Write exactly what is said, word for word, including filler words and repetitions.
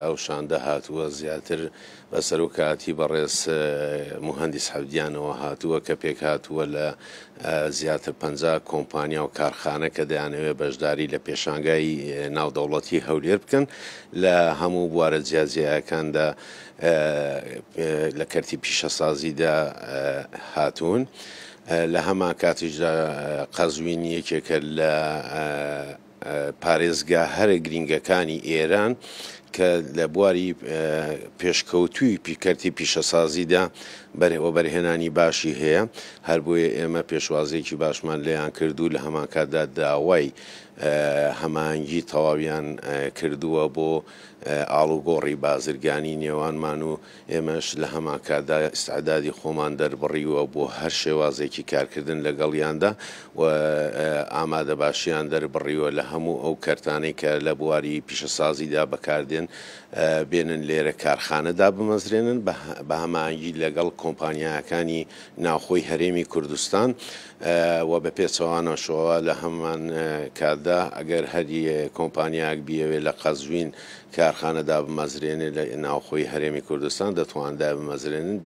ئەو شاندە هاتووە زیاتر بە سەرۆکایەتی بەڕێز موهەندیس حەبدیانەوە هاتووە کە پێک هاتووە لە زیاتر پەنجا کۆمپانیا و کارخانە کە دەیانەوێت بەشداری لە پێشانگای ناودەوڵەتی هەولێر بکەن لە هەموو بوارە جیاجیاکاندا لە کەرتی پیشەسازیدا هاتوون. لە هەمان کاتیشدا قەزوین یەکێکە لە پارێزگا هەرە گرینگەکانی ئێران کە لە بواری پێشکەوتووی کەرتی پیشەسازیدا وەبەرهێنانی باشی هەیە. هەر بۆیە ئێمە پێشوازیەکی باشمان لێیان کردو لە هەمان کاتدا داوای هەماهەنگی تەواویان کردووە بۆ ئاڵوگۆڕی بازرگانی نێوانمان و ئێمەش لە هەمان کاتدا ئیستعدادی خۆمان دەربڕیوە بۆ هەر شێوازێکی کارکردن لەگەڵیاندا و ئامادە باشیان دەربڕیوە لە هەموو ئەو کەرتانەی کە لە بواری پیشەسازیدا بەکاردێن بێنن لێرە کارخانەدا بمەزرێنن بە هەماهەنگی لەگەڵ کۆمپانیاکانی ناوخۆی هەرێمی کوردستان و بە پێچەوانەشەوە لە هەمان کاتدا ئەگەر هەری کۆمپانیاک بیەوێت لە قەزوین کارخانەدا بمەزرێنێت لە ناوخۆی هەرێمی کوردستان دەتواندا بمەزرێنن.